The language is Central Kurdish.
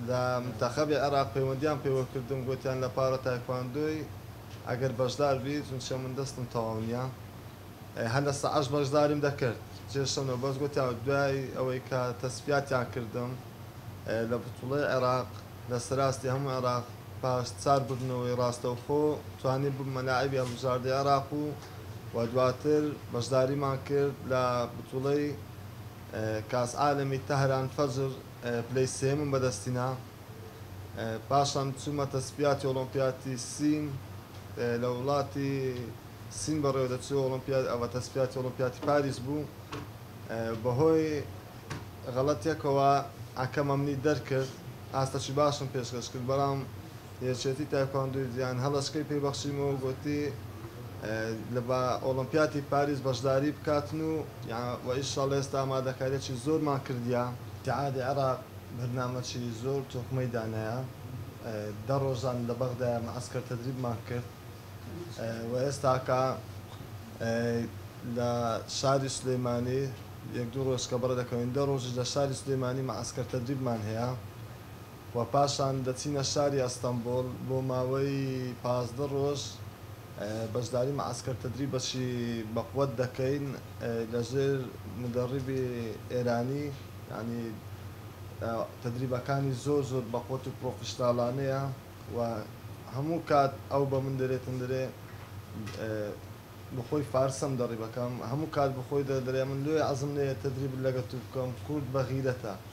لە منتەخەبی عێراق پەیوەندیان پێوە کردم، گوتیان لە پارە تایکواندۆی ئەگەر بەشدار بی، چونچە من دەستم تەواو نییە، هەر لە سەعەش بەشداریم دەکرد کێشەم، بەس گوتیان دوای ئەوەی کە تەسفیاتیان کردم لە بتوڵەی عێراق لە سەراستی هەموو عێراق، پاش 4 بردنەوەی ڕاستەوخۆ توانی ببمە لاعبی هەڵبژاردەی عێراق و دواتر بەشداریمان کرد لە بتوڵەی کاس عالەمی تەهران فەجر، پلەی سێمم بەدەستینا. پاشان چوومە تەسفیاتی ئۆڵۆمپیاتی سین، لە وڵاتی سین بەڕێوە دەچوو ئۆڵۆمپیاد، ئەوە تەسفیاتی ئۆڵۆمپیاتی پاریس بوو. بەهۆی غەڵەتێکەوە حەکەم ئەمنی دەرکرد، ئاستەکی باشم پێشکەش کرد، بەڵام یەکێتی تایکواندۆی جیهان هەڵەشکەی پێی بەخشیمەوە، گوتی لە بە ئۆڵۆمپیاتی پاریس بەشداری بکاتن و ئیشاڵ ئێستا ئامادەکاریەکی زۆرمان کردیە. ئیتیحادی عێراق بەرنامەکی زۆر تۆکمەی دانایە، 10 ڕۆژان لە بەغدایە مەعسکەر تەدریبمان کرد و ئێستاکە لە شاری سلێمانی یەک دوو ڕۆژ کە بەڕێ دەکەوین، 10 ڕۆژیش لە شاری سلێمانی مەعسکەر تەدریبمان هەیە و پاشان دەچینە شاری ئەستەنبوڵ بۆ ماوەی 15 ڕۆژ بەشداری مەعسکەر تەدریبەکی بەقوەت دەکەین لەژێر مدەڕیبی ئێرانی، یعنی تەدریبەکانی زۆر زۆر بەقوەت و پرۆفیشناڵانەیە و هەموو کات ئەو بە من دەرێتن دەرێ بەخۆی فارسم دەڕیبەکەم، هەموو کات بەخۆی دەرێ من لۆی عەزم نەیە تەدریب لەگە تو بکەم، کورد بەغیرەتە.